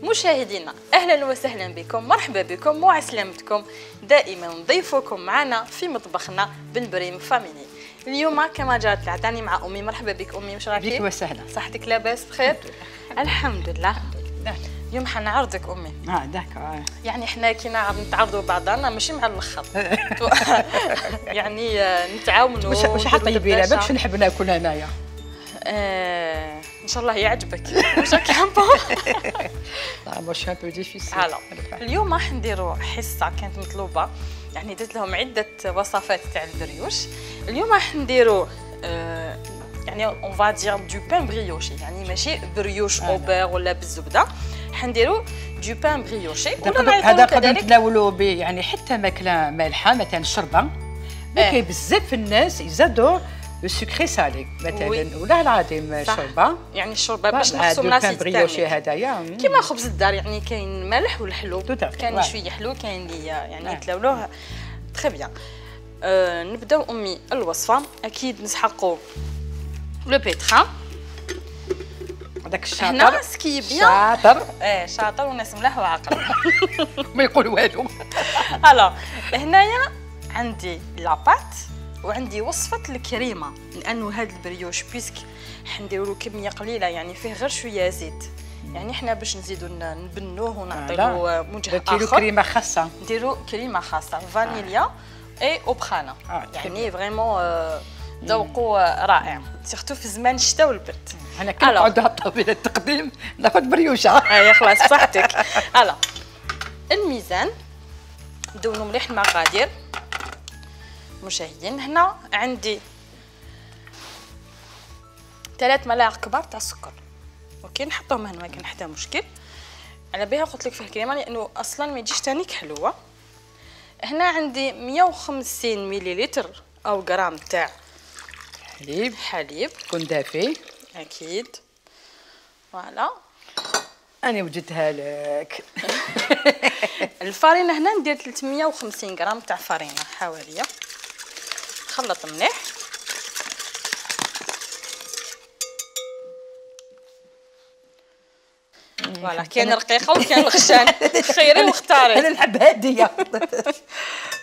مشاهدينا اهلا وسهلا بكم، مرحبا بكم وعسلامتكم. دائما نضيفكم معنا في مطبخنا بالبريم فاميلي. اليوم كما جات العادة مع امي. مرحبا بك امي، واش راكي؟ بك وسهلا. صحتك لاباس بخير؟ الحمد لله. اليوم حنعرضك امي. داكا. يعني حنا كي نتعرضوا بعضنا ماشي مع الاخر. يعني نتعاونوا. واش حطيبي لها باش نحب ناكل انايا؟ ان شاء الله يعجبك. واش راكي حابه؟ واش ان بو ديفيسيل. اليوم راح نديروا حصه كانت مطلوبه، يعني درت لهم عده وصفات تاع البريوش. اليوم راح نديروا يعني اون فا دير دو بان بريوشي، يعني ماشي بريوش اوبر ولا بالزبده، حنديروا دو بان بريوشي. هذا نقدروا نتناولوا به يعني حتى ماكله مالحه مثلا الشربه. كاين بزاف الناس يزادوا السكري سالي مثلا ولا العظيم الشوربه، يعني الشوربه باش نحسوا الناس بريوشي هدايا كيما خبز الدار، يعني كاين مالح والحلو، كاين شويه حلو كاين اللي يعني يتلولوه تري بيان. نبداو امي الوصفه. اكيد نسحقوا لو بيتران، هذاك الشاطر هنا سكي بيان شاطر. شاطر وناس ملاح وعاقل. ما يقول والو. الو هنايا عندي لاباط وعندي وصفه الكريمه، لانه هذا البريوش بيسك حنديروا كميه قليله، يعني فيه غير شويه زيت، يعني حنا باش نزيدوا نبنوه ونعطيوه وجه اخر. نديروا كريمه خاصه، نديروا كريمه خاصه فانيليا اي اوبخانا. يعني فريمون ذوقوا رائع، سيرتو في زمان الشتاء والبرد. انا كنقعدوا على الطاوله التقديم ناخذ بريوشه. اي خلاص بصحتك. هلا الميزان ندونوا مليح المقادير. مشاهدين هنا عندي 3 ملاعق كبار تاع السكر، اوكي نحطهم هنا ما كان حتى مشكل. على بها قلت لك فيه الكريمه لانه اصلا ما يجيش تانيك حلوه. هنا عندي 150 مليلتر او غرام تاع حليب يكون دافي اكيد. فوالا انا وجدتها لك. الفارينه هنا ندير 350 غرام تاع فارينه حواليه، خلط مليح. فوالا كاين رقيقه وكاين الخشان، خيري واختاري. انا نحب هاديه.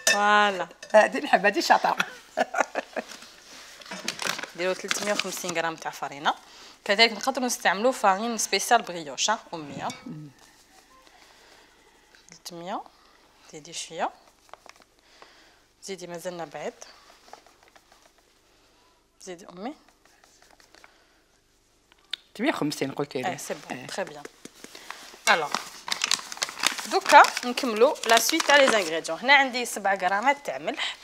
فوالا هادي نحب، هادي شاطره. نديرو 350 غرام تاع فارينه. كذلك نقدروا نستعملوا فارين سبيسيال بريوش اميه. 300 زيدي شويه، زيدي مازلنا بعيد، زيدي امي 350 قلتي لي. سي بون تري بيان. الوغ دوكا نكملوا لا سويت تاع لي زانغريديون. هنا عندي 7 غرامات تاع ملح،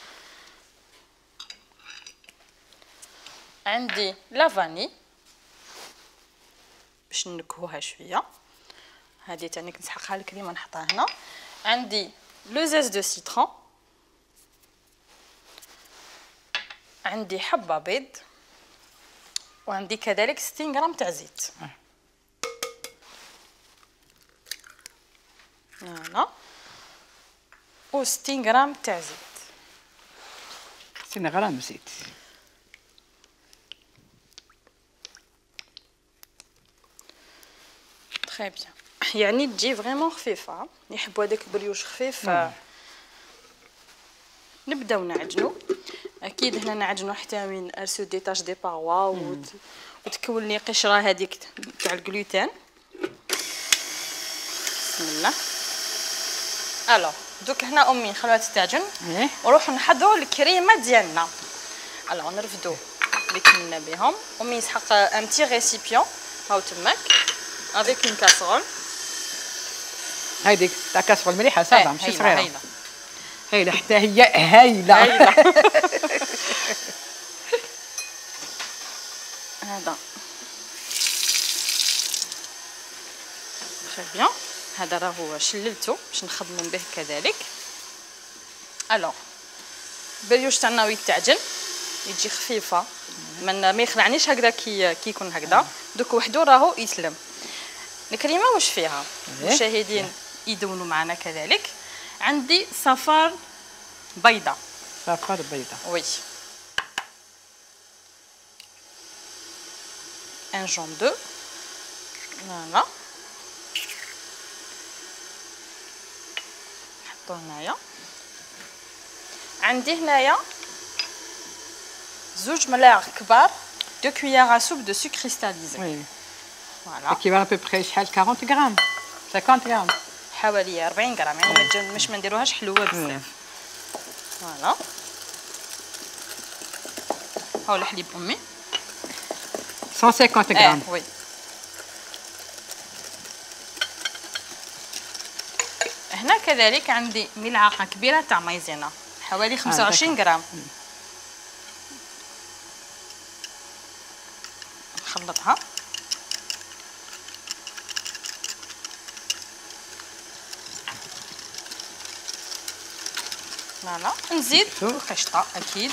عندي لا فاني باش نكهوها شويه، هذه تاني نسحقها الكريمه نحطها هنا. عندي لو زيز دو سيترون، عندي حبه بيض، وعندي كذلك 60 غرام تاع زيت. هنا و 60 غرام تاع زيت. 60 غرام زيت. تري بيان، يعني تجي فريمون خفيفه، يحبوا هذاك البريوش خفيف. نبداو نعجنوا. اكيد هنا نعجنوا حتى من ارسو دي تاش دي باروا وتكون لي قشره هذيك تاع الجلوتين. بسم الله. الو دوك هنا امي نخلوها تستعجن ونروحوا نحضروا الكريمه ديالنا. الو نرفدوا اللي كنا بهم. امي يسحق ان بتي ريسيبيون هاو تماك افيك اون كاسرول. هايديك تاع كاسرول مليحه صافا ماشي صغيره. هايله حتى هي هايله. هذا تري بيان. هذا راهو شللته باش نخدموا به كذلك. الوغ البريوش تاعنا يتعجن يجي خفيفه، ما يخلعنيش هكذا كي يكون هكذا. دوك وحده راهو يسلم. الكريمه واش فيها مشاهدين يدونوا معنا كذلك. عندي صفار بيضه. صفار بيضه وي، ان جون دو. فوالا نحطو هنايا. عندي هنايا 2 ملاعق كبار دو كويير سوب دو سوكر كريستاليزي. وي فوالا كيفال ابوبخي شحال 40 غرام 50 غرام حوالي 40 غرام، يعني مش ما نديروهاش حلوه بزاف. فوالا هاو الحليب امي 150 غرام. وي هنا كذلك عندي ملعقه كبيره تاع مايزينا حوالي 25 غرام. نخلطها. فوالا نزيد القشطه اكيد.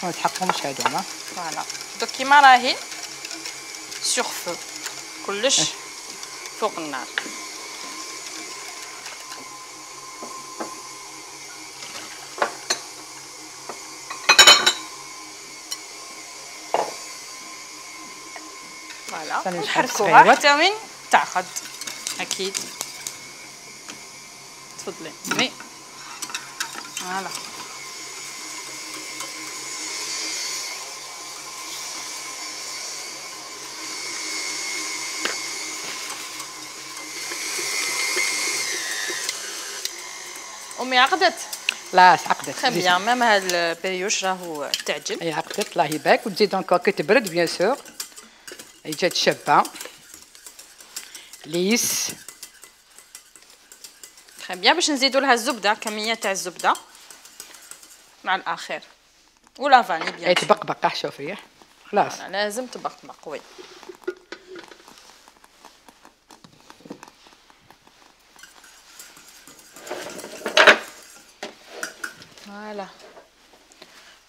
نتحققوا مش هادو. فوالا دوك كيما راهي سوغ فو كلش فوق النار. فوالا نحركوها حتى وين تعقد اكيد. تفضلي مي. فوالا امي عقدت. لا عقدت. تري بيان ميم هاد البريوش راهو تعجن. اي عقدت الله يبارك. وتزيد انكور كي تبرد بيان سور اي جات شابه ليس. تري بيان باش نزيدو لها الزبده كميه تاع الزبده مع الاخر ولا فاني بيان. اي تبقبق شوفي خلاص. لازم تبقبق. وي فوالا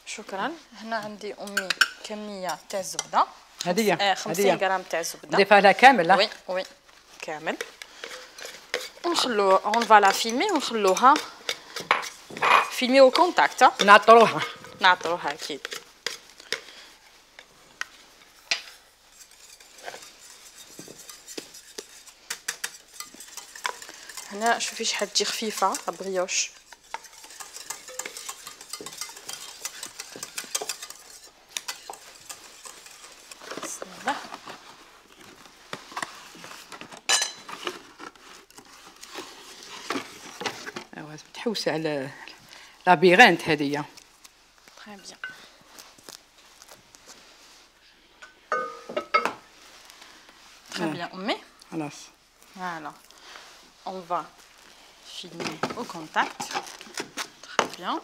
شكرا. هنا عندي امي كميه تاع الزبده هديه 50 غرام تاع الزبده. نضيفها لها كامل. وي وي كامل. ونخلو اون فالا فيلمي ونخلوها فيلمي او كونتاكت. نعطروها اكيد. هنا شوفي شحال تجي خفيفه البريوش. تحوسي على لابيرينت هذيا. تري بيان. تري بيان امي. خلاص فوالا اون فا فيلمي او كونتاكت. تري بيان.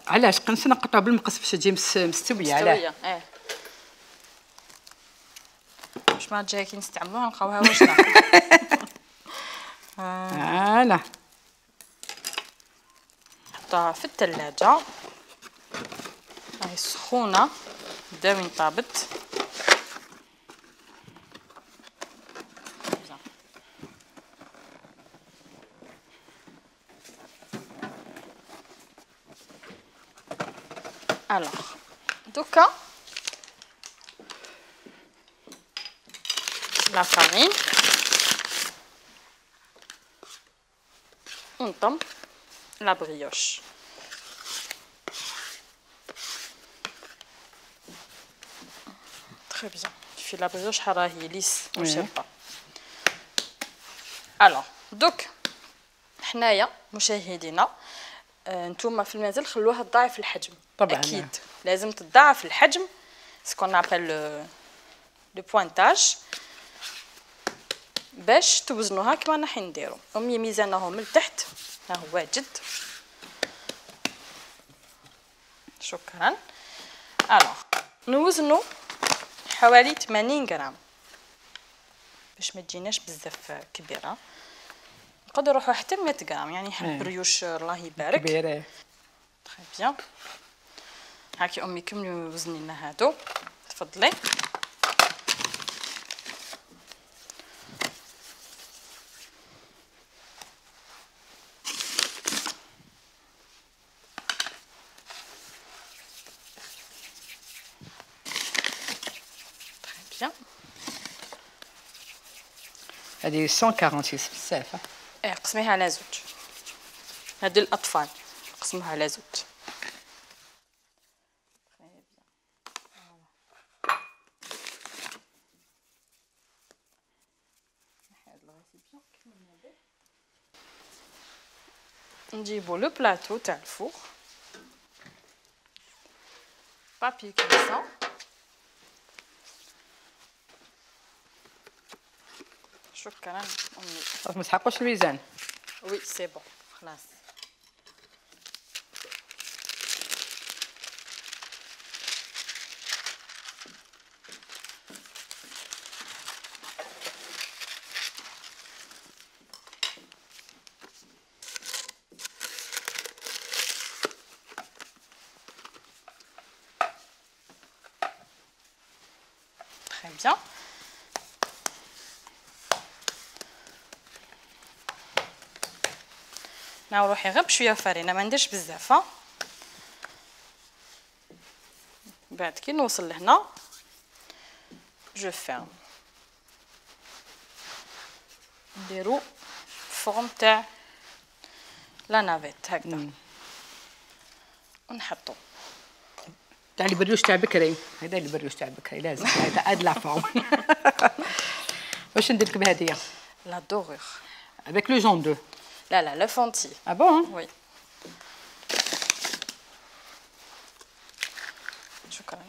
علاش قنص نقطعو بالمقص باش تجي مستويه. علاه باش ما تجي كي نستعملوها نلقاوها واجده. فوالا نحطها في الثلاجه راهي سخونه بدا وين طابت. الوغ دوكا لا فارين ونطم لا بريوش. تري بيان. في لا بريوش راهي ليس وشابه. الوغ دوك حنايا مشاهدينا نتوما في المنزل خلوها تضاعف الحجم. طبعا اكيد لازم تضاعف الحجم سكون نابل لو بوينتاج باش توزنوها كما راح نديرو. امي ميزانه من التحت ها هو واجد. شكرا. الوغ نوزنو حوالي 80 غرام باش ما تجيناش بزاف كبيره. نقدروا نروحوا حتى 100 غرام يعني حب بريوش الله يبارك كبيره. تري بيان. هاكي امي كملي وزني لنا هادو. تفضلي. هذه 146 بزاف. قسميها على زوج. هاد الاطفال قسموها على زوج. نجيبو لو بلاطو تاع الفوق، بابي كريسون، شكرا امي. ما تحقوش الميزان. وي سي بون خلاص. Très bien. ناو روحي غير بشويه فرينه، ما نديرش بزاف. بعد كي نوصل لهنا جو فيرم، نديرو فورم تاع لا نافيت هكذا ونحطو تاع البريوش تاع بكري. هذا البريوش تاع بكري لازم هذا لا فورم. واش ندير لك بهديه؟ لا دورور avec le jaune d'œuf. لا لو فونتي. Ah bon? وي شكرا.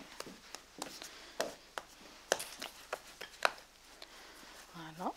فوالا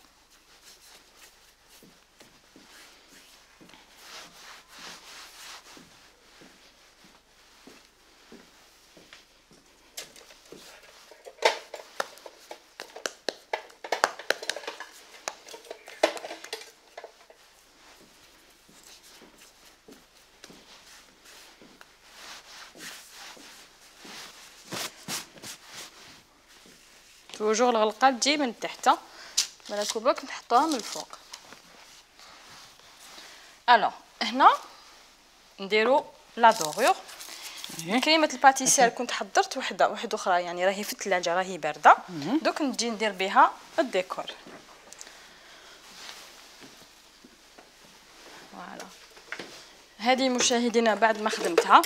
توجور الغلقه تجي من تحت، بالك برك نحطوها من الفوق. الوغ هنا نديرو لا دورور. كريمه الباتيسير كنت حضرت واحده اخرى، يعني راهي في الثلاجه راهي بارده، دوك نجي ندير بها الديكور. فوالا هذه مشاهدينا بعد ما خدمتها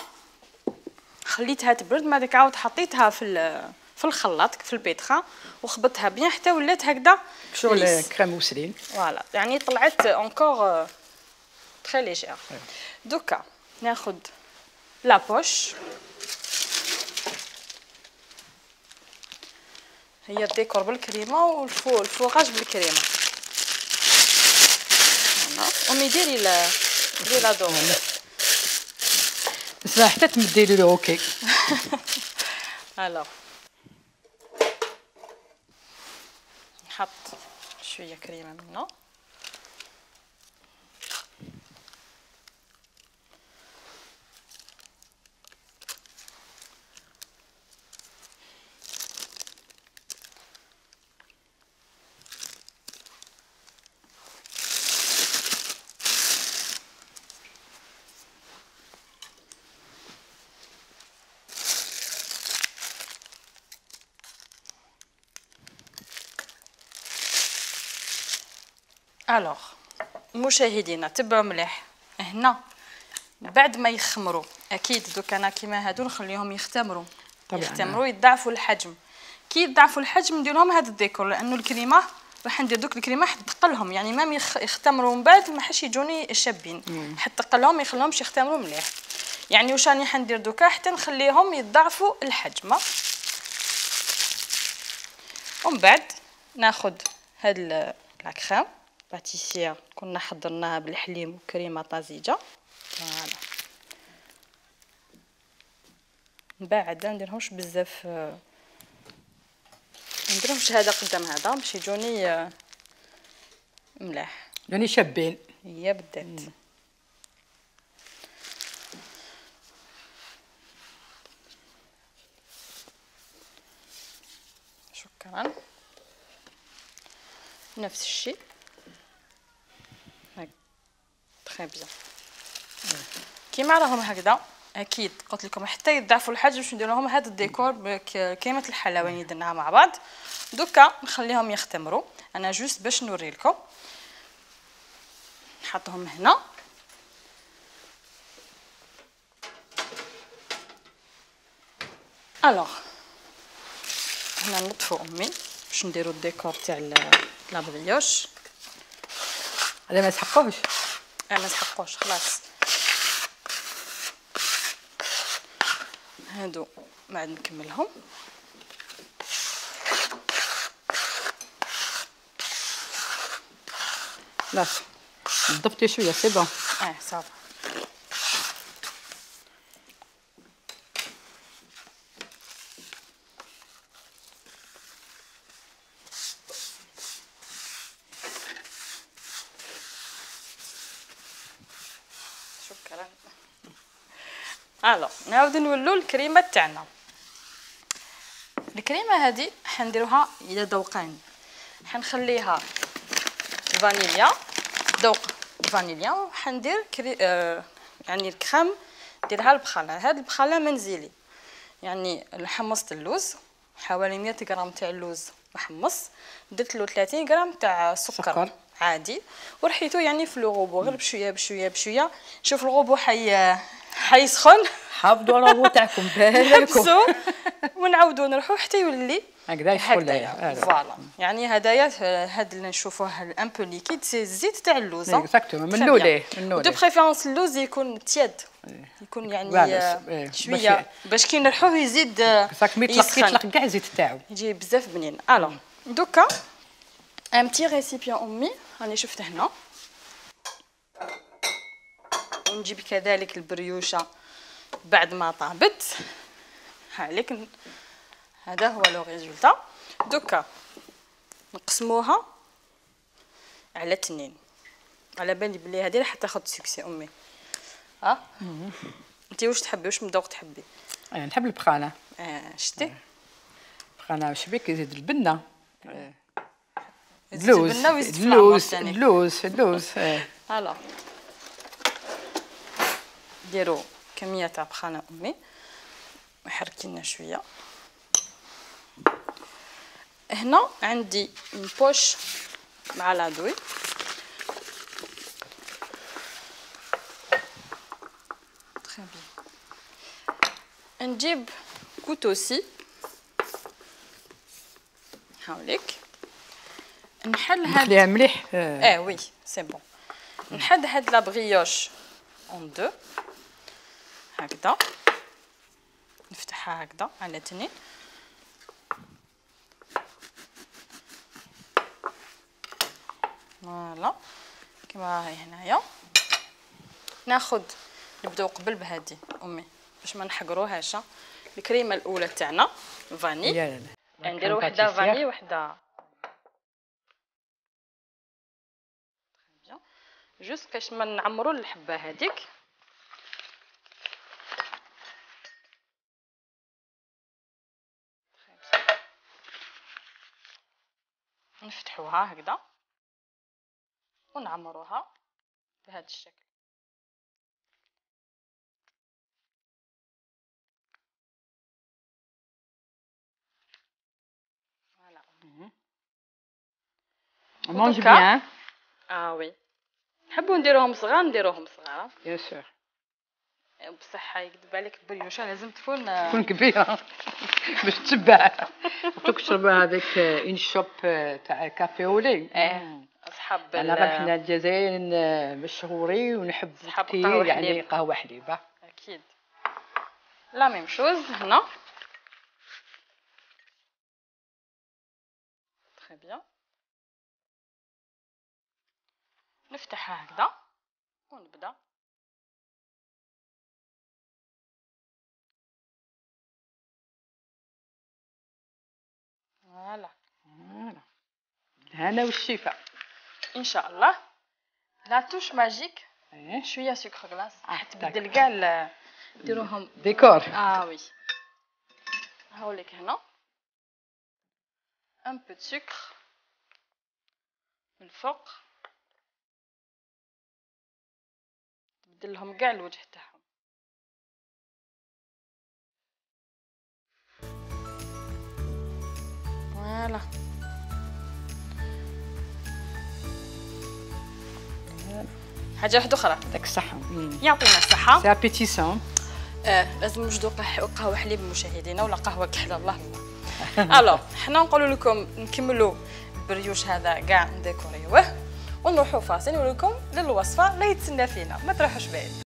خليتها تبرد، ما ديك عاود حطيتها في الخلاط في البيتخا وخبطتها بيان حتى ولات هكذا شغل كريم موسلين. فوالا يعني طلعت اونكور تري ليجير. دوكا ناخذ لا بوش، هي الديكور بالكريمه والفوغاج بالكريمه. امي ديري لا دور بس حتى تمدي لي اوكي. الوغ نحط شويه كريمه منه. الوغ مشاهدينا تبعوا مليح هنا بعد ما يخمروا. اكيد دوك انا كيما هادو نخليهم يختمروا طبعا يختمروا يضاعفوا الحجم. كي يضاعفوا الحجم ندير لهم هذا الديكور، لانه الكريمه راح ندير دوك الكريمه حتقلهم، يعني مام يختمروا من بعد ما حش يجوني شابين، حتقلهم ما يخليهمش يختمروا مليح. يعني واش راني حندير دوكا حتى نخليهم يضاعفوا الحجم. ومن بعد ناخذ هاد لا كريم باتيسير كنا حضرناها بالحليب وكريمه طازجه. فوالا من بعد ما نديرهمش بزاف، نديرهمش هذا قدام هذا باش يجوني ملاح يعني شابين. هي بالذات. شكرا. نفس الشيء هاك تري بيان كيما راهم هكذا اكيد قلت لكم حتى يضعفوا الحاجه باش ندير لهم هذا الديكور كيمه الحلواني درناها مع بعض. دوكا نخليهم يختمروا. انا جوست باش نوري لكم نحطهم هنا. الوغ هنا نطفو امي باش نديرو الديكور تاع لا بريوش. هذا ما يسحقوش. ما يسحقوش خلاص. هادو ما عاد نكملهم. لا نضفتي شويه سي بون. صافي. شكرا. الو نعاودو نولو الكريمه تاعنا. الكريمه هذه حنديروها الى ذوقان. حنخليها فانيليا ذوق فانيليا وحندير يعني الكريم ديرها البخاله. هاد البخاله منزلي يعني حمصت اللوز حوالي 100 غرام تاع اللوز محمص. درت له 30 غرام تاع سكر عادي ورحيتو يعني في الغوبو غير بشويه بشويه بشويه. شوف الغوبو حيسخن. حافظوا الغوبو تاعكم بالكم ونعاودو نروحو حتى يولي هكذا يسخن. فوالا يعني هدايا هاد اللي نشوفوه ان بو ليكيد سي الزيت تاع اللوز. اكزاكتومون من لوليه دو بريفيرونس اللوز يكون تياد يكون يعني شويه باش كي نرحوه يزيد يطلق كاع الزيت تاعو يجي بزاف بنين. الوغ دوكا ان بتي ريسيبيون امي راني شفت هنا. ونجيب كذلك البريوشه بعد ما طابت. هاليك هذا هو لو ريزولتا. دوكا نقسموها على 2. على بالي بلي هذه راح تاخذ سكسي امي. انت واش تحبي واش من ذوق تحبي؟ انا نحب البخانه. شتي البخانه واش بيك يزيد البنه. يزيد البنه ويزيد اللوز. هلا ديروا كميه تاع بخانه امي وحركينا شويه. هنا عندي بوش مع لادوي. تري بيان. نجيب كوتوسي هاوليك نحل هاد نخليها مليح. وي سي بون. نحل هاد لا بريوش اون دو هكذا. نفتحها هكذا على 2. فوالا كيما راهي هنايا. ناخذ نبداو قبل بهادي امي باش ما نحقروهاش. الكريمه الاولى تاعنا فاني نديرو وحده فاني وحده جوست باش ما نعمرو الحبه هذيك. نفتحوها هكذا ونعمروها بهذا الشكل. فوالا مونج بيان. وي نحبوا نديروهم صغار نديروهم صغار بيان سور. بصح يكذب عليك البريوشه لازم تكون كبيره باش تشبع. تشربها هذيك اون شوب تاع كافي اولي. اصحاب انا حنا الجزائر مشهورين ونحب كثير يعني قهوه حليبه. اكيد لا ميم شوز هنا. تري بيان. نفتحها هكذا ونبدا. فوالا الهنا والشفاء ان شاء الله. لا توش ماجيك شويه سكر غلاس تبدل كاع ديروهم ديكور. وي هاوليك هنا ان بو دو سكر من الفوق تبدل لهم كاع الوجه تاعهم. فوالا. حاجه واحده اخرى داك الصحه. يعطينا الصحه. سي ابيتيسون. لازم نوجدوا قهوه حليب مشاهدينا ولا قهوه كحله الله الله. الو حنا نقولوا لكم نكملوا بريوش هذا كاع نديكوريوه ونروحوا فاصل ونقول لكم للوصفه اللي يتسنى فينا، ما تروحوش بعيد.